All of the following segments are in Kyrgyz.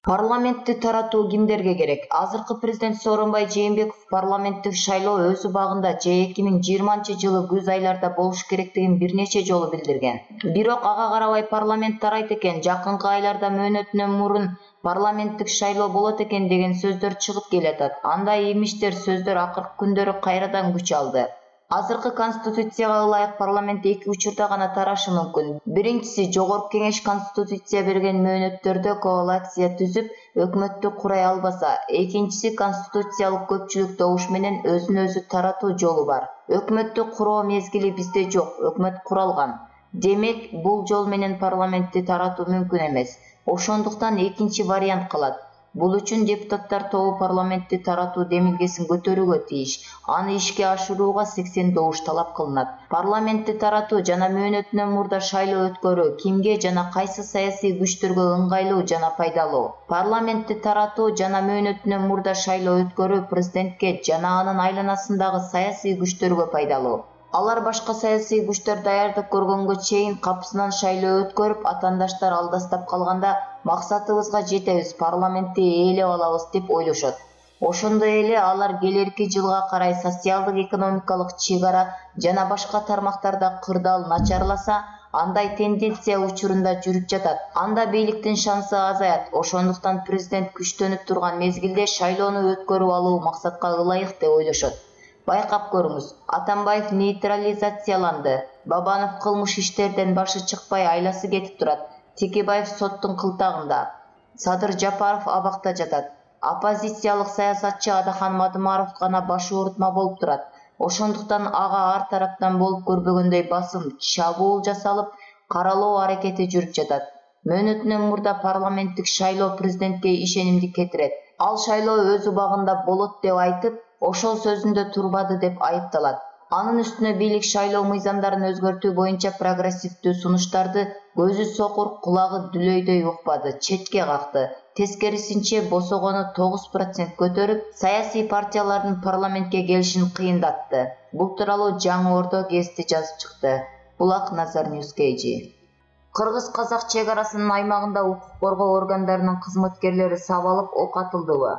Парламентти таратуу кимдерге керек? Азыркы президент Сооронбай Жээнбеков парламенттик шайлоо өз убагында же 2020-жылы күз айларда болуш керектигин бир нече жолу билдирген. Бирок ага карабай парламент тарайт экен, жакынкы айларда мөөнөтүнөн мурун парламенттик шайлоо болот экен деген сөздөр чыгып келатат. Андай имиштер сөздөр акыркы күндөрү кайрадан күч алды. Азыркы конституцияга ылайык парламент эки учурда гана тарашы мүмкүн. Биринчиси, Жогорку Кеңеш конституция берген мөөнөттөрдө коалиция түзүп, өкмөттү курай албаса. Экинчиси, конституциялык көпчүлүк добуш менен өзүн өзү таратуу жолу бар. Өкмөттү куруу мезгили бизде жок, өкмөт куралган. Демек, бул жол менен парламентти таратуу мүмкүн эмес. Ошондуктан экинчи вариант калат. Бул үчүн депутаттар тобу парламентти таратуу демилгесин көтөрүүгө тийиш. Аны ишке ашырууга 80 добуш талап кылынат. Парламентти таратуу жана мөөнөтүнөн мурда шайлоо өткөрүү кимге жана кайсы саясий күчтөргө ыңгайлуу жана пайдалуу? Парламентти таратуу жана мөөнөтүнөн мурда шайлоо өткөрүү президентке жана анын айланасындагы саясий күчтөргө пайдалуу. Алар башка саясий күчтөр даярдык көргөнгө чейин капысынан шайлоо өткөрүп, атаандаштар алдастап калганда максатыбызга жетебиз, парламентти ээлеп алабыз деп ойлошот. Ошондой эле алар келерки жылга карай социалдык экономикалык чыгара жана башка тармактарда кырдаал начарласа, андай тенденция учурунда жүрүп жатат. Анда бийликтин шансы азаят. Ошондуктан президент күчтөнүп турган мезгилде шайлоону өткөрүп алуу максатка ылайык деп ойлошот. Байкап көрүңүз, Атамбаев нейтрализацияланды. Бабанов кылмыш иштерден башы чыкпай айласы кетип турат. Текебаев соттун кылтагында. Садыр Жапаров абакта жатат. Оппозициялык саясатчы Адахан Мадымаров гана баш оорутма болуп турат. Ошондуктан ага ар тараптан болуп көрбөгөндөй басым, чабуул жасалып, каралоо аракети жүрүп жатат. Мөөнөтүнөн мурда парламенттик шайлоо президентке ишенимди кетирет. Ал шайлоо өз убагында болот деп айтып, ошол сөзүндө турбады деп айыпталат. Анын үстүнө бийлик шайлоо мыйзамдарын өзгөртүү боюнча прогрессивдүү сунуштарды көзү сокур, кулагы дүлөйдөй укпады, четке какты. Тескерисинче босогону 9% көтөрүп, саясий партиялардын парламентке келишин кыйындатты. Бул тууралуу Жаңы Ордо гезити жазып чыкты. Булак Назар Ньюскейджи. Кыргыз-казак чек арасынын аймагында укук коргоо органдарынын кызматкерлери сабалып ок атылдыбы?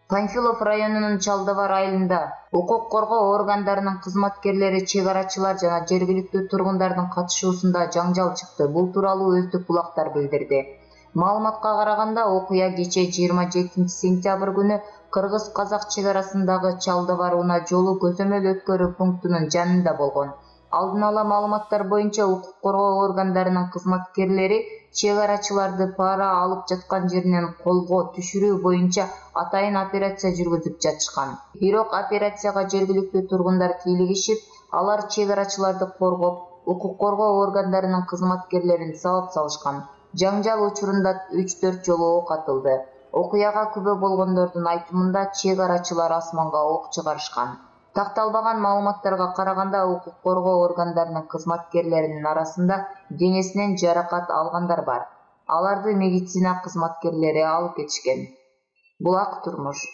Панфилов районунун Чалдыбар айылында укук коргоо органдарынын кызматкерлери, чек арачылар жана жергиликтүү тургундардын катышуусунда жаңжал чыкты. Бул тууралуу өздүк булактар билдирди. Маалыматка караганда, окуя кечээ 27 сентябрь күнү Кыргыз-казак чек арасындагы Чалдыбар унаа жолу көзөмөл өткөрүү пунктунун жанында болгон. Алдын ала маалыматтар боюнча укук коргоо органдарынын кызматкерлери чек арачыларды пара алып жаткан жеринен колго түшүрүү боюнча атайын операция жүргүзүп жатышкан. Бирок операцияга жергиликтүү тургундар кийлигишип, алар чек арачыларды коргоп, укук коргоо органдарынын кызматкерлерин сабап салышкан. Жаңжал учурунда 3-4 жолу ок атылды. Окуяга күбө болгондордун айтымында чек арачылар асманга ок чыгарышкан. Такталбаган маалыматтарга караганда, укук коргоо органдарынын кызматкерлеринин арасында денесинен жаракат алгандар бар. Аларды медицина кызматкерлери алып кетишкен. Булак турмуш.